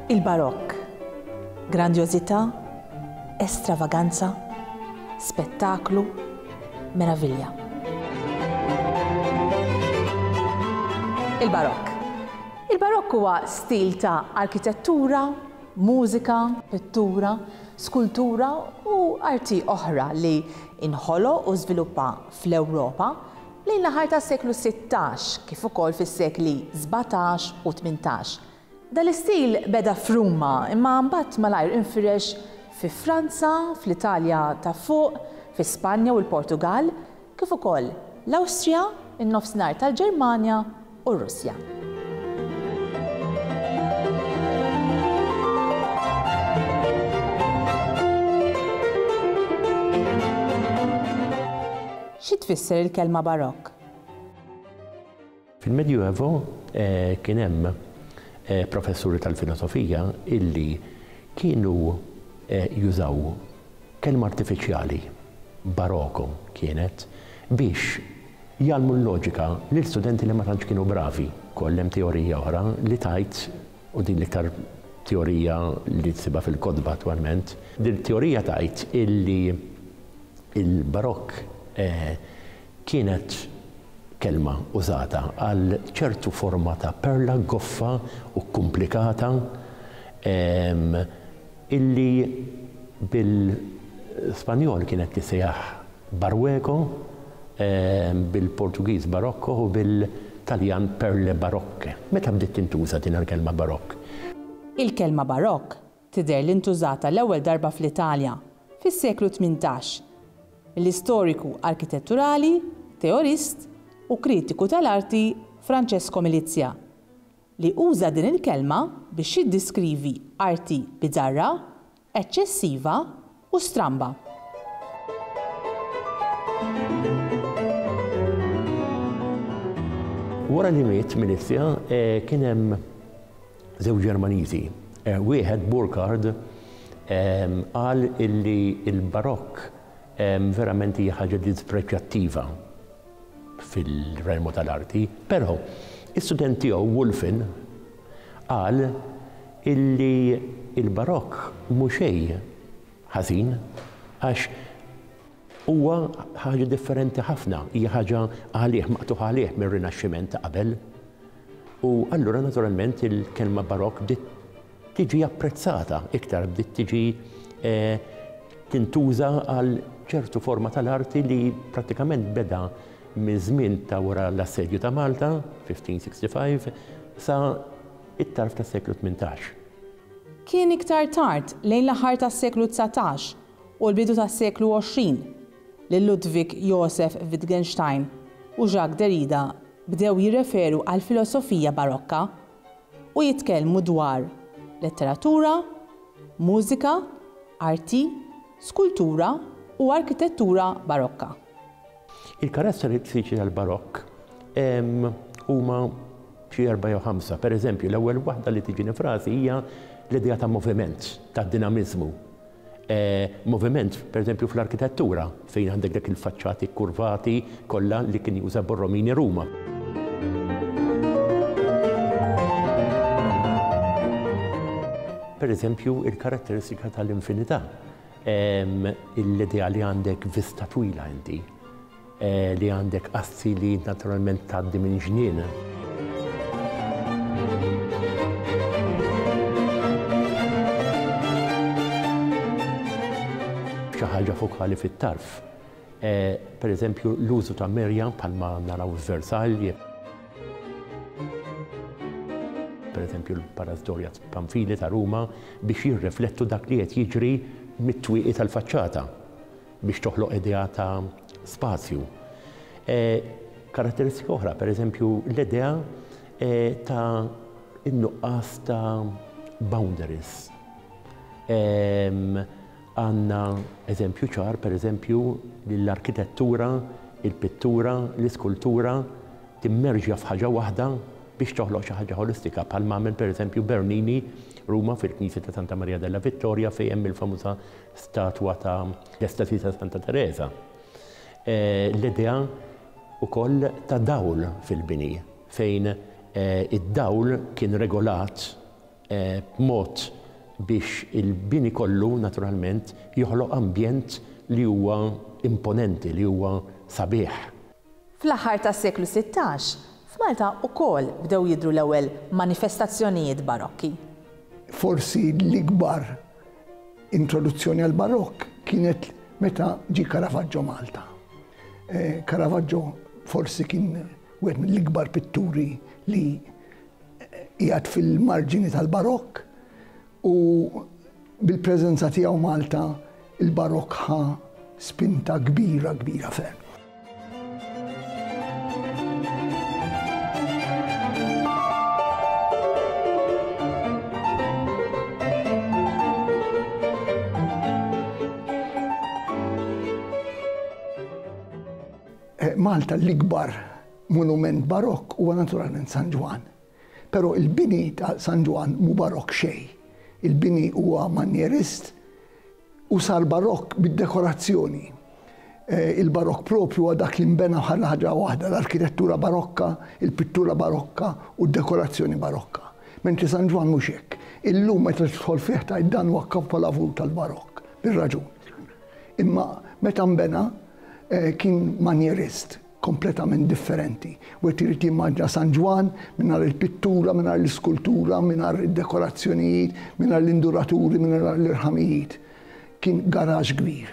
Il-Barokk. Grandjożità, estravaganza, spettaklu, meravilja. Il-Barokk. Il-Barokk huwa stil ta' arkitettura, mużika, pittura, skultura u arti oħra li inħoloq u żviluppa fl-Ewropa lejn l-aħħar tas-seklu 16 kif ukoll fis-sekli 17 u 18. Dan l-istil beda f'Ruma imma mbagħad malajr infirex fi Franza, fl-Italja ta' Fuq, fi Spanja u l-Portugall, kif ukoll l-Awstrija, in-Nofsinhar tal-Ġermanja u r-Russja. Xi tfisser il-kelma Barokk? Fil-Medjuevo kien hemm professuri tal-filosofija illi kienu jużaw kelma artifiċjali, baroko kienet, biex jgħallmu l-loġika lil studenti li ma tantx kienu bravi. Ukoll hemm teorija oħra li tgħid, u din l-iktar teorija li tsibha fil-kotba attwalment, din it-teorija tgħid illi l-barokk kienet kelma użata għal ċertu forma ta' perla goffa u kkumplikata illi bil-Spanjol kienet tissejjaħ barrueco, bil-Portugiż barocco u bil-Taljan perle barocche. Meta bdiet tintuża din il-kelma barokk? Il-kelma barokk tidher li ntużata l-ewwel darba fl-Italja fis-seklu 18 mill-istoriku arkitetturali, teorist u kritiku tal-arti Francesco Milizia, li uża din il-kelma biex jiddiskrivi arti biżarra, eċċessiva u stramba. Wara li miet Milizia kien hemm żewġ Ġermaniżi. Wieħed, Burkhard, qal illi l-Barokk verament hija ħaġa dispreġjattiva fil-relmu tal-arti, però is-student tiegħu Wulfin qal illi l-Barokk mhu xejn ħażin għax huwa ħaġa differenti ħafna, hija ħaġa għalih, maqtugħ għalih mir-Rinaxximent ta' qabel. U allura naturalment il-kelma Barokk bdiet tiġi apprezzata iktar, bdiet tiġi tintuża għal ċertu forma tal-arti li prattikament beda miż-żmien ta' wara l-Assedju ta' Malta, 1565, sa it-tarf tas-seklu 18. Kien iktar tard, lejn l-aħħar tas-seklu 19 u l-bidu tas-seklu 20, li Ludwig Josef Wittgenstein u Jacques Derrida bdew jirreferu għall-filosofija Barokka u jitkellmu dwar letteratura, mużika, arti, skultura u arkitettura Barokka. Il-karatteristiċi tal-Barokk huma xi erbgħa jew ħamsa. Pereżempju, l-ewwel waħda li tiġini f'rasi hija l-idea ta' moviment, ta' dinamiżmu. Moviment, pereżempju, fl-arkitettura, fejn għandek dak il-faċċati kkurvati kollha li kien juża Borromini Ruma. Pereżempju, il-karatteristika tal-infinità, l-idea li għandek vista twila inti. Li għandek assi li naturalment tgħaddi minn ġnien. Xi ħaġa fokali fit-tarf. Per eżempju, l-użu ta' merja bħalma naraw f'Versailles. Per eżempju, l-Palazzo Doria Pamphili ta' Ruma biex jirriflettu dak li qed jiġri mit-twieqi tal-faċċata. biex toħloq idea ta' spazju. Karatteristika oħra, per eżempju, l-idea ta' in-nuqqas ta' boundaries. Għandna eżempju ċar, per eżempju, li l-arkitettura, il-pittura, l-iskultura timmerġja f'ħaġa waħda biex toħloq xi ħaġa ħolistika, bħalma għamel per eżempju Bernini Ruma fil-Knisja ta' Santa Maria della Vittoria fejn hemm il-famuża statwa ta' l-Estasi ta' Santa Tereża. L-idea wkoll ta' dawl fil-bini, fejn id-dawl kien regolat b'mod biex il-bini kollu naturalment joħloq ambjent li huwa imponenti, li huwa sabiħ. Fl-aħħar tas-seklu 16, f'Malta wkoll bdew jidhru l-ewwel manifestazzjonijiet Barokki. Forsi l-ikbar introduzzjoni għall-Barokk kienet meta ġie Caravaggio Malta. Caravaggio forsi kien wieħed mill-ikbar pitturi li qiegħed fil-marġini tal-Barokk u bil-preżenza tiegħu Malta il-Barokk ħa spinta kbira kbira ferm. Eh, Malta l-ikbar monument barokk huwa naturalment San Ġwann. Però il-bini ta' San Ġwann mhu barokk xejn. Il-bini huwa manjerist u sar barokk bid-dekorazzjoni. Eh, il-barokk propju huwa dak li nbena bħala ħaġa waħda, l-arkitettura barokka, il-pittura barokka u d-dekorazzjoni barokka. Mentri San Ġwann mhux hekk. Illum meta tidħol fih tgħid dan huwa kapolavur tal-barokk, bir-raġun. Imma meta nbena eh, kien manjerist kompletament differenti. Wieħed irid jimmaġina San Ġwann mingħajr il-pittura, mingħajr l-iskultura, mingħajr id-dekorazzjonijiet, mingħajr l-induraturi, mingħajr l-irħamijiet. Kien garaxx kbir.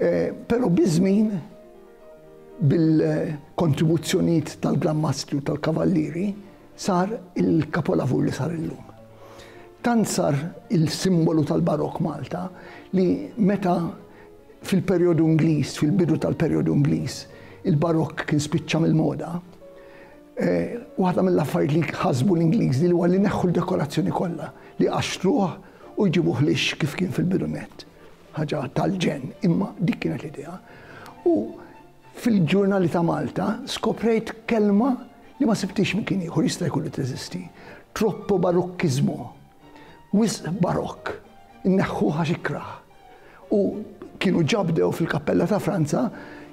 Eh, però biż-żmien bil-kontribuzzjonijiet tal-Gran Mastri u tal-Kavallieri sar il-kapolavur li sar illum. Tant sar il-simbolu tal-Barokk Malta li meta Fil-perjodu Ingliż, fil-bidu tal-perjodu Ingliż, il-Barokk kien spiċċa mill-moda. Eh, waħda mill-affarijiet li ħasbu l-Ingliżi li huwa li neħħu l-dekorazzjoni kollha, li qaxtruh u jġibuh lix kif kien fil-bidu nett. Ħaġa tal-ġenn, imma dik kienet l-idea. U fil-ġurnali ta' Malta skoprejt kelma li ma sibtix mkien ieħor jista' jkun li teżisti. Troppo barokkizmu. Wisq barokk. Inneħħuh għax ikrah. U kienu ġa bdew fil-kappella ta' Franza,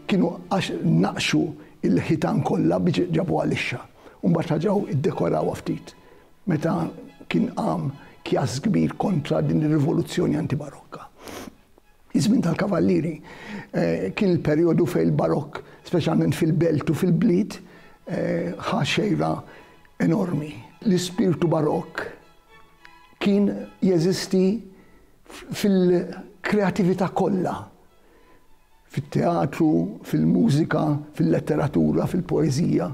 kienu għax naqxu il-ħitan kollha biex ġabuha lixxa. U mbagħad reġgħu iddekorawha ftit meta kien qam kjass kbir kontra din ir-rivoluzzjoni antibarokka. Iż-żmien tal-Kavallieri eh, kien il-perjodu fejn il-barokk, speċjalment fil-belt u fil-bliet, eh, ħa xejra enormi. L-ispirtu barokk kien jeżisti fil-kreatività kollha, fit-teatru, fil-mużika, fil-letteratura, fil-poeżija.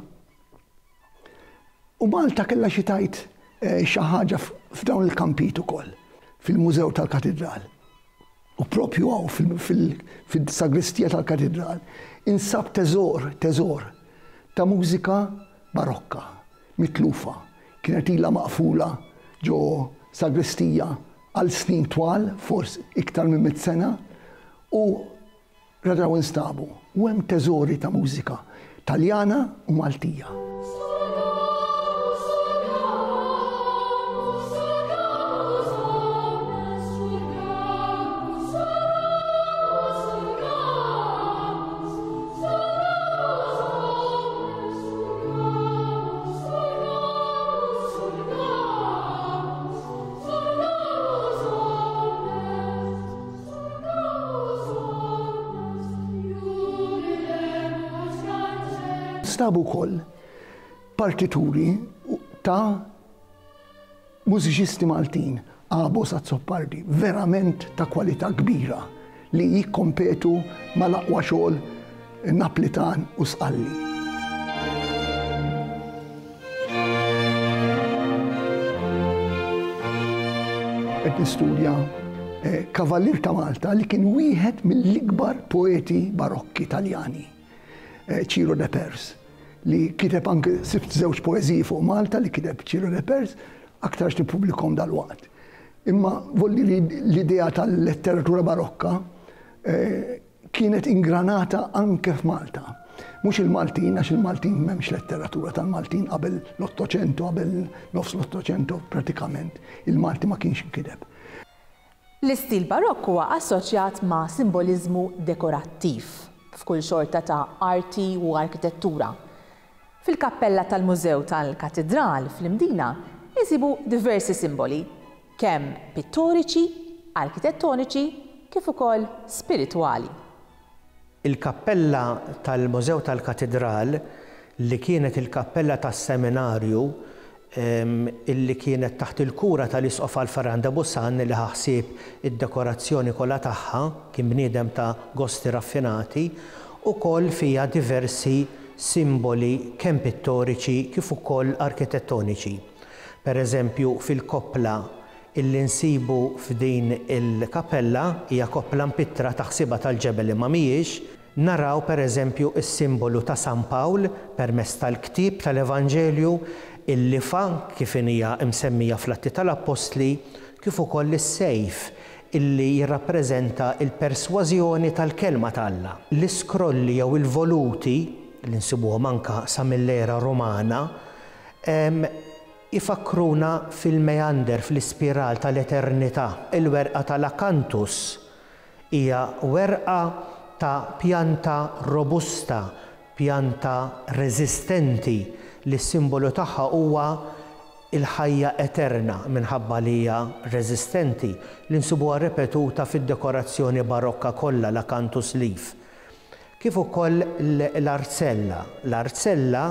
U Malta kellha xi tgħid eh, xi ħaġa f'dawn il-kampijiet ukoll, fil-Mużew tal-Katidral. U propju hawn fil-sagristija tal-Katidral insab teżor, teżor ta' mużika barokka, mitlufa. Kienet ilha maqfula ġo sagristija għal snin twal, forsi iktar minn mitt sena, u reġgħu instabu. U hemm teżori ta' mużika Taljana u Maltija. Stabu wkoll partituri ta' mużiċisti Maltin, Abo Azzopardi, verament ta' kwalità kbira li jikkompetu mal-aqwa xogħol Naplitan u Sqalli. Qed nistudja eh, Kavallier ta' Malta li kien wieħed mill-ikbar poeti barokki Taljani, eh, Ciro de Pers, li kiteb anke sibt żewġ poeżiji fuq Malta li kiteb Ciro de Pers, aktarx nippubblikhom dalwaqt. Imma volli li l-idea tal-letteratura barokka eh, kienet ingranata anke f'Malta. Mhux il-Maltin, għax il-Maltin m'hemmx letteratura tal-Maltin qabel l-Ottocento, qabel nofs l-Ottocento pratikament, il-Malti ma kienx inkiteb. L-istil Barokk huwa assoċjat ma' simboliżmu dekorattiv f'kull xorta ta' arti u arkitettura. Fil-kappella tal-Mużew tal-Katidral fl-Imdina Insibu diversi simboli, kemm pittoriċi, arkitettoniċi kif ukoll spiritwali. Il-kappella tal-Mużew tal-Katidral, li kienet il-kappella tas-seminarju, illi kienet taħt il-kura tal-Isqof Alpheran de Bussan li ħa ħsieb id-dekorazzjoni kollha tagħha, kien bniedem ta' gosti raffinati, ukoll fiha diversi simboli kemm pittoriċi kif ukoll arkitettoniċi. Per eżempju, fil-koppla illi nsibu f'din il-kappella, hija koppla mpittra taħsibha tal-ġebel imma mhijiex, naraw per eżempju s-simbolu ta' San Pawl permezz tal-ktieb tal-Evanġelju, il-lifgħa kif inhija msemmija fl-Atti tal-Appostli, kif ukoll is-sejf illi jirrappreżenta l-persważjoni tal-Kelma ta' Alla. L-iskrolli jew il-voluti, li nsibuhom anke sa mill-era Rumana, Ifakkruna fil-meander, fl-ispiral tal-eternità. Il-werqa tal-akantus hija werqa ta' pjanta robusta, pjanta reżistenti li s-simbolu tagħha huwa l-ħajja eterna minħabba li hija reżistenti, li nsibuha ripetuta fid-dekorazzjoni barokka kollha, l-acanthus leaf. Kif ukoll l-arzella. L-arzella,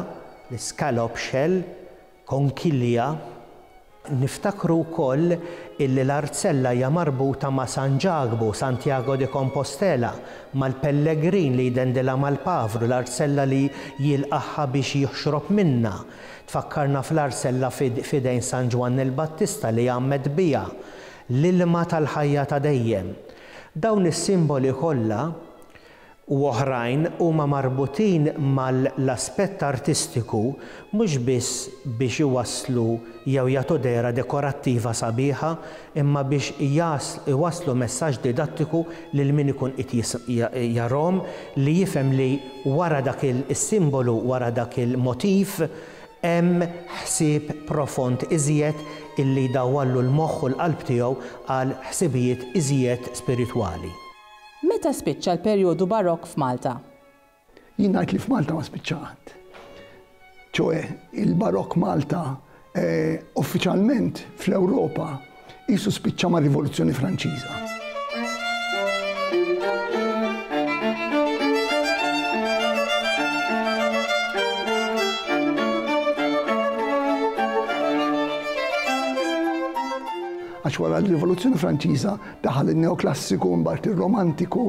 l-iscallop shell, konkilja, niftakru wkoll illi l-arzella hija marbuta ma' San Ġakbu, Santiago de Compostela, mal-pellegrin li jdendilha mal-pavru, l-arzella li jilqagħha biex jixrob minnha. Tfakkarna fl-arzella f'idejn San Ġwann il-Battista li għammed biha, l-ilma tal-ħajja ta' dejjem. Dawn is-simboli kollha u oħrajn huma marbutin mal-aspett artistiku mhux biss biex iwasslu jew jagħtu dehra dekorattiva sabiħa imma biex iwasslu messaġġ didattiku lil min ikun qed jarahom li jifhem li wara dak is-simbolu, wara dak il-motiv hemm ħsieb profond iżjed illi jdawwarlu l-moħħ u l-qalb tiegħu għal ħsibijiet iżjed spiritwali. Meta spiċċa l-perjodu Barokk f'Malta? Jien ngħid li f'Malta ma spiċċa qatt. Ċoe, il-Barokk Malta uffiċjalment fl-Ewropa qisu spiċċa mar-Rivoluzzjoni Franċiża. Għax wara l-Rivoluzzjoni Franċiża daħal in-Neoklassiku, imbagħad ir-Romantiku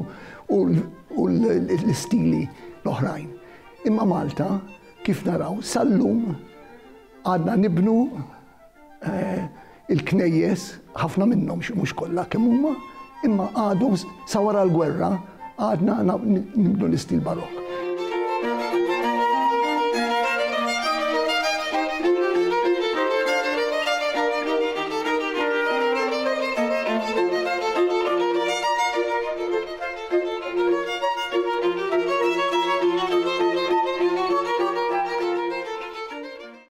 u l-istili l-oħrajn. Imma Malta, kif naraw, sal-lum għadna nibnu eh, il-knejjes, ħafna minnhom mhux kollha kemm huma, imma għadhom sa wara l-gwerra għadna nibnu l-istil barokk.